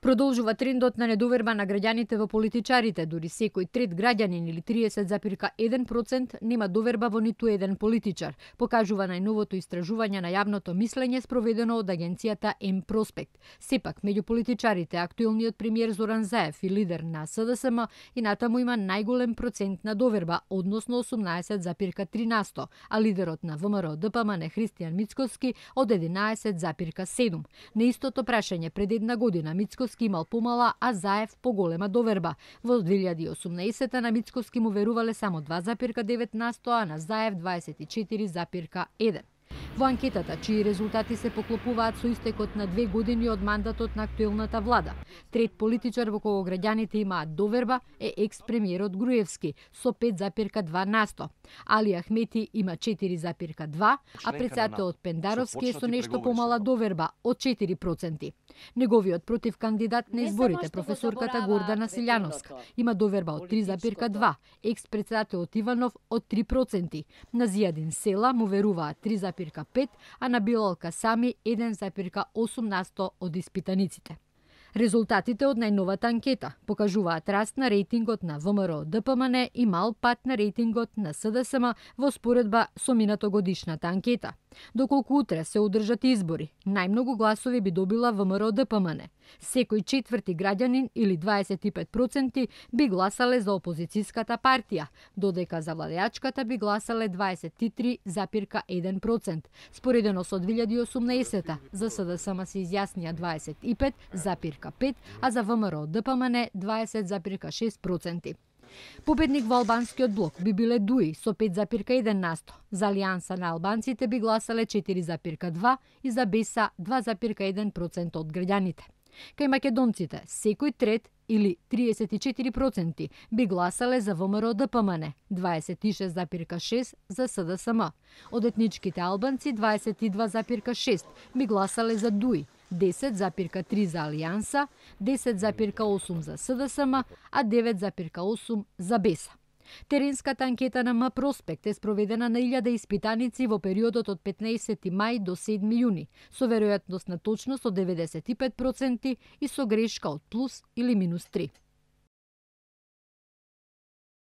Продолжува трендот на недоверба на граѓаните во политичарите, дури секој трет граѓанин или 30,1% нема доверба во ниту еден политичар, покажува најновото истражување на јавното мислење спроведено од агенцијата М-Проспект. Сепак, меѓу политичарите, актуелниот премиер Зоран Заев и лидер на СДСМ и натаму има најголем процент на доверба, односно 18,3%, а лидерот на ВМРО-ДПМН Христијан Мицкоски од 11,7%. На истото прашање пред една година Мицкоски имал помала, а Заев поголема доверба. Во 2018 на Мицкоски му верувале само 2,9%, а на Заев 24,1%. Во анкетата, чии резултати се поклопуваат со истекот на 2 години од мандатот на актуелната влада, трет политичар во кого граѓаните имаат доверба е екс-премиерот Груевски со 5,2%. Али Ахмети има 4,2%, а председателот Пендаровски е со нешто помала доверба од 4%. Неговиот противкандидат на изборите, професорката Гордана Силјановска, има доверба од 3,2%, екс-председателот Иванов од 3%. На Зијадин Села му веруваат 3,5%, а на Билал Касами 1,8% од испитаниците. Резултатите од најновата анкета покажуваат раст на рейтингот на ВМРО-ДПМН и мал пат на рейтингот на СДСМ во споредба со минатогодишната анкета. Доколку утре се одржат избори, најмногу гласови би добила ВМРО-ДПМН. Секој четврти граѓанин или 25% би гласале за опозицијската партија, додека за владеачката би гласале 23,1%. Споредено со 2018 за СДСМ се изјаснија 25,5%, а за ВМРО-ДПМН 20,6%. Победник во албанскиот блок би биле Дуи со 5,1%. За Алијанса на албанците би гласале 4,2% и за Беса 2,1% од граѓаните. Кај македонците, секој трет или 34% би гласале за ВМРО-ДПМН, 26,6% за СДСМ. Од етничките албанци 22,6% би гласале за Дуи, 10,3% за Алијанса, 10,8% за СДСМ, а 9,8% за Беса. Теренската анкета на М-Проспект е спроведена на 1000 испитаници во периодот од 15 мај до 7 јуни, со веројатност на точност од 95% и со грешка од плюс или минус 3.